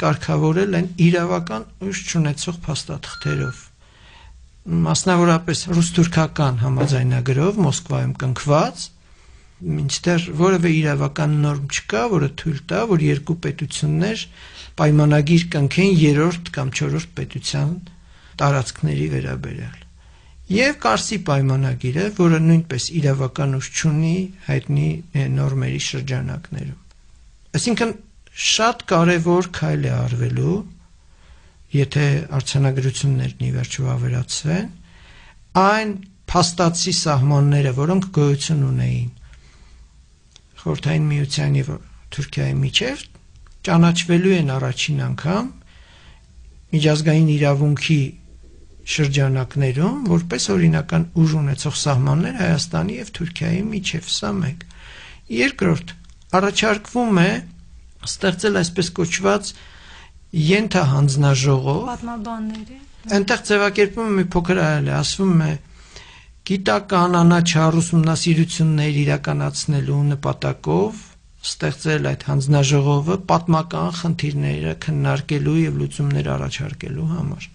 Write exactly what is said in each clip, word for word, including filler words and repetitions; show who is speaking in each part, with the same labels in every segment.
Speaker 1: կարգավորել են իրավական ուժ չունեցող փաստաթղթերով, մասնավորապես ռուս-թուրքական համաձայնագրով Մոսկվայում կնքված, մինչդեռ որևէ իրավական նորմ չկա, որը թույլ տա, որ երկու պետություններ պայմանագիր կնքեն երրորդ կամ չորրորդ պետության տարածքների վերաբերյալ։ Եվ Կարսի պայմանագիրը, որը նույնպես իրավական ուժ չունի հայտնի նորմերի շրջանակներում։ Այսինքն շատ կարևոր քայլ է արվելու, եթե արձանագրություններն ի վերջո ավերացվեն, այն փաստացի սահմանները, որոնք գոյություն ունեին Խորհրդային Միության եւ Թուրքիայի միջև, ճանաչվելու են առաջին անգամ միջազգային իրավունքի շրջանակներում, որպես օրինական ուժ ունեցող սահմաններ Հայաստանի եւ Թուրքիայի միջև, սա մեկ։ Երկրորդ, առաջարկվում է ստեղծել այսպես կոչված ենթահանձնաժողով,
Speaker 2: պատմաբանների։
Speaker 1: Այնտեղ ձևակերպումը մի փոքր այլ է, ասվում է գիտական անաչառ ուսումնասիրություններ իրականացնելու նպատակով ստեղծել այդ հանձնաժողովը պատմական խնդիրները քննարկելու եւ լուծումներ առաջարկելու համար։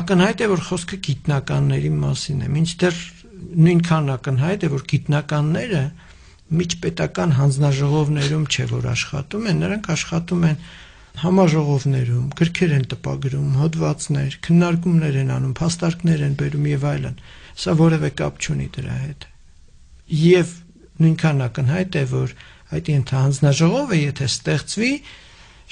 Speaker 1: Ակնհայտ է, որ խոսքը գիտնականների մասին է, մինչդեռ նույնքան ակնհայտ է, որ գիտնականները միջպետական հանձնաժողովներում չէ, որ աշխատում են, նրանք աշխատում են համաժողովներում, գրքեր են տպագրում, հոդվածներ, քննարկումներ են անում, փաստարկներ են բերում եւ այլն։ Սա որևէ կապ չունի դրա հետ։ Եվ նույնքան ակնհայտ է, որ այդ ենթահանձնաժողովը, եթե ստեղծվի,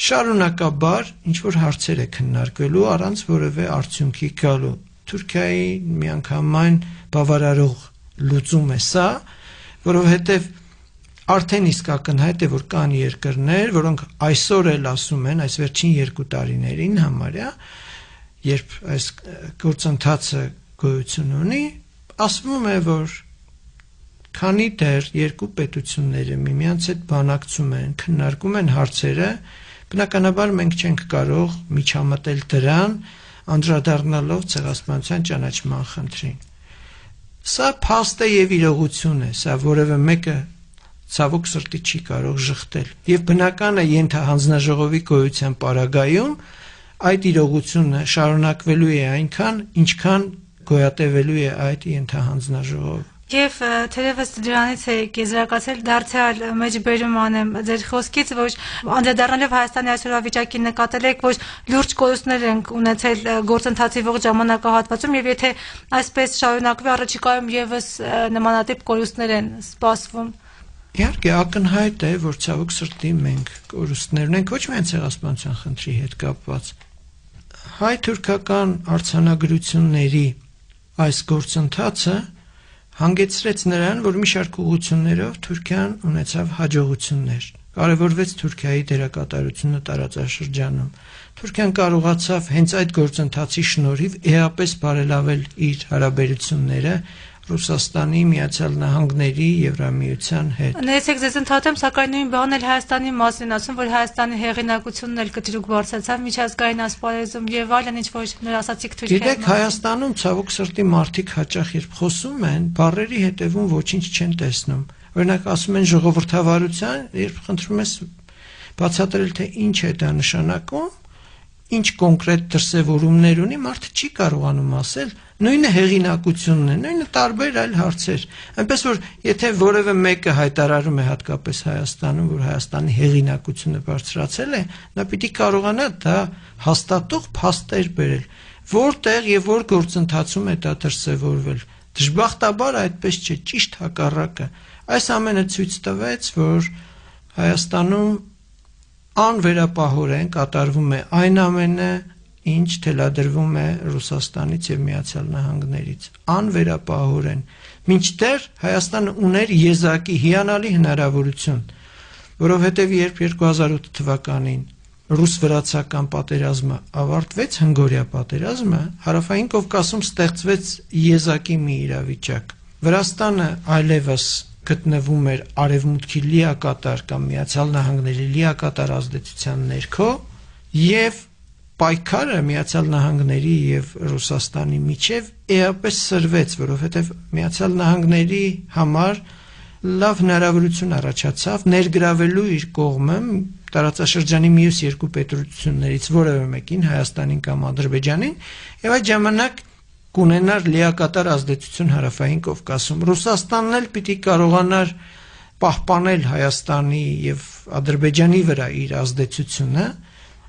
Speaker 1: շարունակաբար ինչ-որ հարցեր է քննարկվելու առանց որևէ արդյունքի գալու։ Թուրքիայի միանգամայն բավարարող լուծում է սա, որովհետև արդեն իսկ ակնհայտ է, որ կան երկրներ, որոնք այսօր էլ ասում են, այս վերջին երկու տարիներին համարյա, երբ այս գործընթացը գոյություն ունի, ասվում է, որ քանի դեռ երկու պետությունները միմյանց հետ բանակցում են, քննարկում են հարցերը, բնականաբար մենք չենք կարող միջամտել դրան, անդրադառնալով ցեղասպանության ճանաչման խնդրին։ Սա փաստ է եւ իրողություն է, սա որևէ մեկը ցավոք սրտի չի կարող շղթել։ Եվ բնական է ենթահանձնաժողովի գոյության պարագայում այդ իրողությունը շարունակվելու է այնքան, ինչքան գոյատևելու է այդ ենթահանձնաժողովը։
Speaker 2: Եվ թերևս դրանից է եզրակացել դարձյալ մեջբերում անեմ ձեր խոսքից, որ անդրադառնալով Հայաստանի այսօրվա վիճակին նկատել եք, որ լուրջ կորուստներ են ունեցել գործընթացի ողջ ժամանակահատվածում, եւ եթե այսպես շարունակվի առաջիկայում եւս նմանատիպ կորուստներ են սպասվում։
Speaker 1: Իհարկե ակնհայտ է, որ ցավոք սրտի մենք կորուստներ ունենք ոչ միայն ցեղասպանության խնդրի հետ կապված։ Հայ-թուրքական արձանագրությունների այս գործընթացը հանգեցրեց նրան, որ մի շարք ուղղություններով Թուրքիան ունեցավ հաջողություններ։ Կարևորվեց Թուրքիայի դերակատարությունը տարածաշրջանում։ Թուրքիան կարողացավ հենց այդ գործընթացի շնորհիվ էապես բարելավել իր հարաբերությունները Ռուսաստանի, Միացյալ Նահանգների, Եվրամիության հետ։
Speaker 2: Ներեցեք ձեզ ընդհատեմ, սակայն նույն բանն էլ Հայաստանի մասին ասում, որ Հայաստանի հեղինակությունն էլ կտրուկ բարձրացավ միջազգային ասպարեզում եւ այլն, ինչ որ նոր ասացիք Թուրքիայի։
Speaker 1: Գիտեք, Հայաստանում ցավոք սրտի մարդիկ հաճախ երբ խոսում են, բառերի հետևում ոչինչ չեն տեսնում։ Օրինակ ասում են ժողովրդավարության, երբ խնդրում ես բացատրել, թե ինչ է դա նշանակում, ինչ կոնկրետ դրսևորումներ ունի, մարդը չի կարողանում ասել, նույնը հեղինակությունն է, նույնը տարբեր այլ հարցեր։ Այնպես որ եթե որևէ մեկը հայտարարում է հատկապես Հայաստանում, որ Հայաստանի հեղինակությունը բարձրացել է, նա պիտի կարողանա դա հաստատող փաստեր բերել, որտեղ եւ որ գործընթացում է դա դրսևորվել։ Դժբախտաբար այդպես չէ, ճիշտ հակառակը։ Այս ամենը ցույց տվեց, որ Հայաստանում անվերապահորեն կատարվում է այն ամենը, ինչ թելադրվում է Ռուսաստանից եւ Միացյալ Նահանգներից, անվերապահորեն։ Մինչդեռ Հայաստանը ուներ եզակի հիանալի հնարավորություն, որովհետեւ երբ երկու հազար ութ թվականին ռուս-վրացական պատերազմը ավարտվեց, հնգօրյա պատերազմը, Հարավային Կովկասում ստեղծվեց եզակի մի իրավիճակ։ Վրաստանը այլևս գտնվում էր արևմուտքի լիակատար կամ Միացյալ Նահանգների լիակատար ազդեցության ներքո եւ պայքարը Միացյալ Նահանգների եւ Ռուսաստանի միջև էապես սրվեց, որովհետեւ Միացյալ Նահանգների համար լավ հնարավորություն առաջացավ ներգրավելու իր կողմը տարածաշրջանի մյուս երկու պետություններից որևէ մեկին, Հայաստանին կամ Ադրբեջանին, եւ այդ ժամանակ կունենար լիակատար ազդեցություն Հարավային Կովկասում։ Ռուսաստանն էլ պիտի կարողանար պահպանել Հայաստանի եւ Ադրբեջանի վրա իր ազդեցությունը,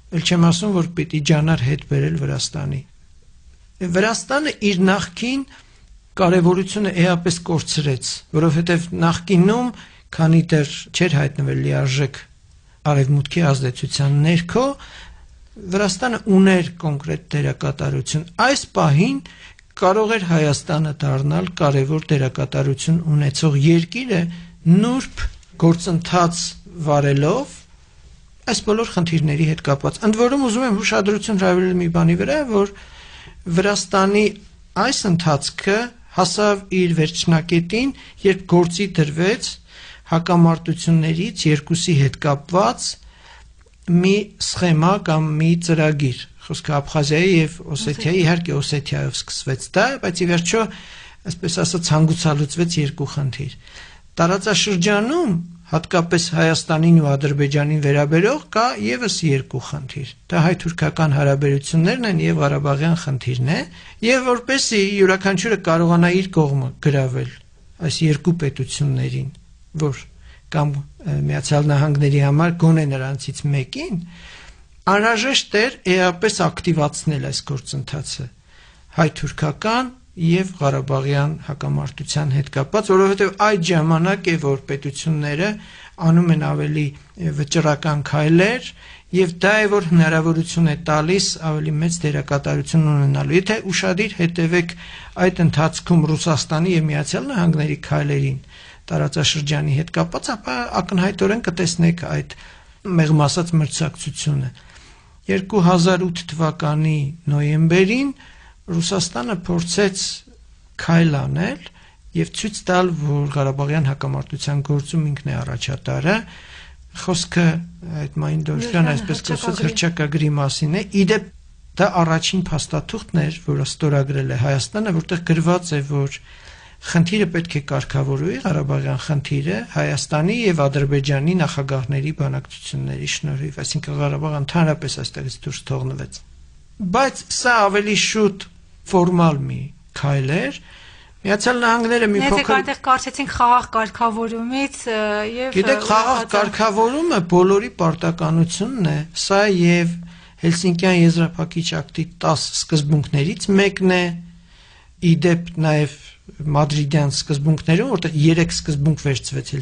Speaker 1: ել չեմ ասում, որ պիտի ջանար հետ բերել Վրաստանի։ Վրաստանը իր նախկին կարևորությունը էապես կորցրեց, որովհետև նախկինում, քանի դեռ չէր հայտնվել լիարժեք արևմուտքի ազդեցության ներքո, Վրաստանը ուներ կոնկրետ դերակատարություն։ Այս պահին կարող էր Հայաստանը դառնալ կարևոր դերակատարություն ունեցող երկիրը նուրբ գործընթաց վարելով այս բոլոր խնդիրների հետ կապված։ Ընդ որում ուզում եմ ուշադրություն հրավիրել մի բանի վրա, որ Վրաստանի այս ընթացքը հասավ իր վերջնակետին, երբ գործի դրվեց հակամարտություններից երկուսի հետ կապված մի սխեմա կամ մի ծրագիր։ Խոսքը Աբխազիայի եւ Օսեթիայի, իհարկե Օսեթիայով սկսվեց դա, բայց ի վերջո, այսպես ասած, հանգուցալուծվեց երկու խնդիր։ Տարածաշրջանում, հատկապես Հայաստանին ու Ադրբեջանին վերաբերող կա եւս երկու խնդիր։ Դա հայ-թուրքական հարաբերություններն են եւ Ղարաբաղյան խնդիրն է, եւ որպեսզի յուրաքանչյուրը կարողանա իր կողմը գրավել այս երկու պետություններին, որ կամ Միացյալ Նահանգների համար գոնե նրանցից մեկին, անհրաժեշտ էր էապես ակտիվացնել այս գործընթացը հայ-թուրքական եւ Ղարաբաղյան հակամարտության հետ կապված, որովհետեւ այդ ժամանակ է, որ պետությունները անում են ավելի վճռական քայլեր եւ դա է, որ հնարավորություն է տալիս ավելի մեծ դերակատարություն ունենալու։ Եթե ուշադիր հետևեք այդ ընթացքում Ռուսաստանի եւ Միացյալ Նահանգների քայլերին տարածաշրջանի հետ կապված, ապա ակնհայտորեն կտեսնեք այդ մեղմ ասած մրցակցությունը։ երկու հազար ութ թվականի նոյեմբերին Ռուսաստանը փորձեց քայլ անել եւ ցույց տալ, որ Ղարաբաղյան հակամարտության գործում ինքն է առաջատարը։ Խոսքը այդ Մայնդորֆյան, այսպես կոչված հռչակագրի մասին է։ Իդեպ դա առաջին փաստաթուղթն էր, որը ստորագրել է Հայաստանը, որտեղ գրված է, որ խնդիրը պետք է կարգավորվի, Ղարաբաղյան խնդիրը Հայաստանի եւ Ադրբեջանի նախագահների բանակցությունների շնորհիվ, այսինքն Ղարաբաղը ընդհանրապես այստեղից դուրս թողնվեց։ Բայց սա ավելի շուտ ֆորմալ մի քայլ էր։ Միացյալ Նահանգները մի փոքր
Speaker 2: Եթե այնտեղ կարծեցինք խաղաղ կարգավորումից եւ
Speaker 1: Գիտեք, խաղաղ կարգավորումը բոլորի պարտականությունն է, սա եւ Հելսինկյան եզրափակիչ ակտի տաս սկզբունքներից մեկն է, իդեպ նաեւ Մադրիդյան սկզբունքներում, որտեղ երեք սկզբունք վերցվեց